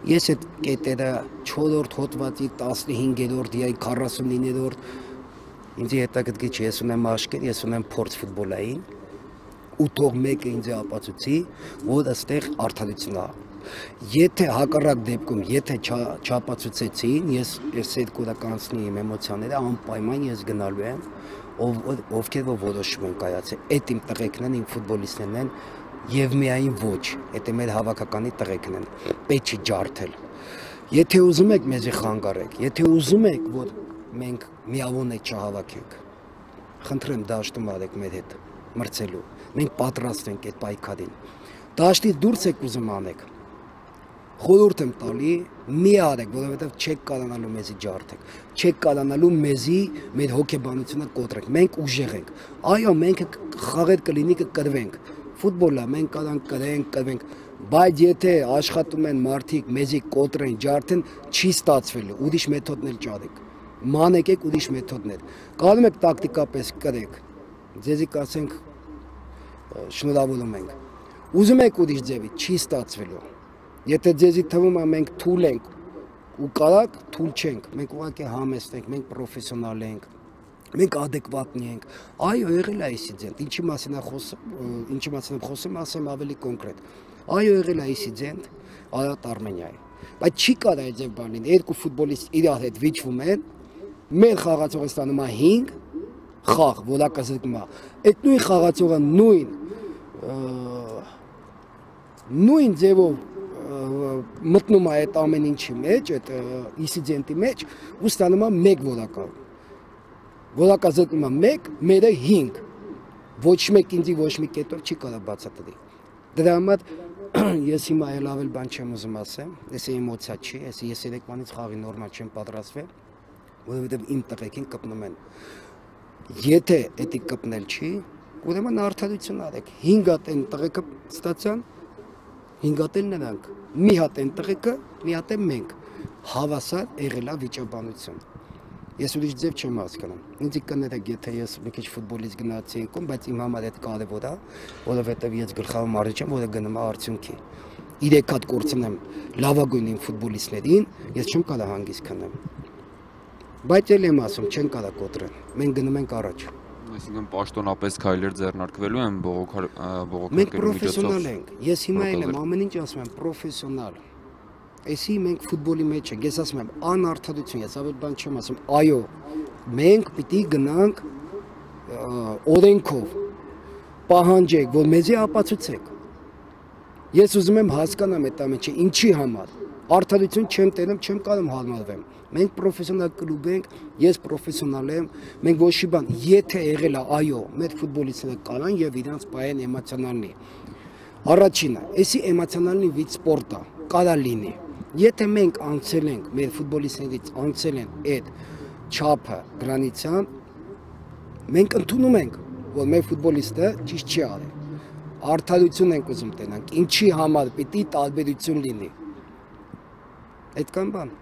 Ես այդ կետերը 4-րդ հոդվածի 15-րդ, 49-րդ ինձ հետաքրքիր չի, ես ունեմ աշկեր, ես ունեմ փորձ ֆուտբոլային, ու թող մեկը ինձ ապացուցի, որ այստեղ արդարություն է։ Եթե հակառակ դեպքում, եթե չապացուցեցին, ես այդ կոդը կանցնի իմ էմոցիաները, անպայման ես գնալու եմ, ովքեր որ որոշում են կայացել, այդ իմ տղեկն են, իմ ֆուտբոլիստներն են, եւ միայն ոչ, այդ մեր հավաքականի տղեկն են, պետք չի ջարդել։ Եթե ուզում եք մեզի խանգարեք, եթե ուզում եք, որ մենք միավորներ չհավաքենք, խնդրեմ դաշտում արեք մեր հետ մրցելու, մենք պատրաստ ենք այդ պայքարին։ Դաշտից դուրս եք ուզում անեք, խորհուրդ եմ տալի, մի արեք, որովհետև չեք կարողանալու մեզի ջարդեք, չեք կարողանալու մեզի մեր հոգեբանությունը կոտրեք, մենք ուժեղ ենք, այո, մենք խաղեր կլինի կկրվենք, ֆուտբոլը մենք կարանք կրվենք, բայց եթե աշխատում են մարդիկ մեզի կոտրեն, ջարդեն, չի ստացվելու, ուրիշ մեթոդներ ճարեք, մանեկեք ուրիշ մեթոդներ, կարող եք տակտիկապես կրեք, ձեզի կասենք շնորհավորում ենք, ուզում եք ուրիշ ձևի, չի ստացվելու, եթե ձեզի թվում է մենք թույլ ենք ու կարակ թույլ չենք, մենք ուղղակի համեստ ենք, մենք պրոֆեսիոնալ ենք, մենք adekvatni ենք, այո եղել է ինցիդենտ, ինչի մասին եմ խոսում, ասեմ ավելի կոնկրետ, այո եղել է ինցիդենտ Արարատ Արմենիայի, բայց չի կարող այդ ձև բան լինի, երկու ֆուտբոլիստ իրար հետ վիճվում են, մեր խաղացողը ստանում է 5 խաղ, որակը զրկում է, այդ նույն խաղացողը նույն ձևով մտնում է այդ ամեն ինչի մեջ, այդ ինցիդենտի մեջ ու ստանում է 1 որակը, որակը զրկում է 1, մերը 5, ոչ մեկ ինձի ոչ մի կետով չի կարող բացատրի, դրա համար ես հիմա էլ ավել բան չեմ ուզում ասեմ, ես էմոցիա չի, ես երեկվանից խաղի նորմալ չեմ պատրաստվել, որովհետև իմ տղեկին կպնում են, եթե էդի կպնել չի, ուրեմն արդարություն արեք, 5 հատ են տղեկը ստացան, 5 հատ էլ նրանք, մի հատ են տղեկը, մի հատ են մենք, հավասար եղել է վիճաբանություն, ես ուրիշ ձև չեմ հասկանում, ինձ կներեք, եթե ես մի քիչ ֆուտբոլից գնացի ընկում, բայց իմ համար այդ կարևոր է, որովհետև ես գլխավոր մարզիչ եմ, որը գնում է արդյունքի, 3 հատ կորցնեմ լավագույն իմ ֆուտբոլիստներին, ես չեմ կարող հանգիստ քնեմ, բայց էլ եմ ասում, չեն կարող կոտրել, մենք գնում ենք առաջ։ Այսինքն պաշտոնապես քայլեր ձեռնարկվելու են բողոքարկելու Մենք պրոֆեսիոնալ ենք, ես հիմա էլ եմ ամեն ինչ ասում եմ, պրոֆեսիոնալ, այսի մենք ֆուտբոլի մեջ ենք, ես ասում եմ, անարդարություն, ես ավելի բան չեմ ասում, այո, մենք պիտի գնանք օրենքով, պահանջեք, որ մեզի ապացուցեք, ես ուզում եմ հասկանամ այդ ամենը, ինչի համար, արդարություն չեմ տերում, չեմ կարող հարմարվեմ, մենք պրոֆեսիոնալ կլուբ ենք, ես պրոֆեսիոնալ եմ, մենք ոչ մի բան, եթե եղել է, այո, մեր ֆուտբոլիստները կանան եւ իրանց պայեն էմոցիոնալնի, առաջինը, այսի էմոցիոնալնի վիճ սպորտը, կարա լինի, եթե մենք անցել ենք, մեր ֆուտբոլիստներից անցել են այդ չափը գրանիցան, մենք ընդունում ենք, որ մեր ֆուտբոլիստը ճիշտ չի արել, արդարություն ենք ուզում տենանք, ինչի համար պիտի տարբերություն լինի, այդքան բան։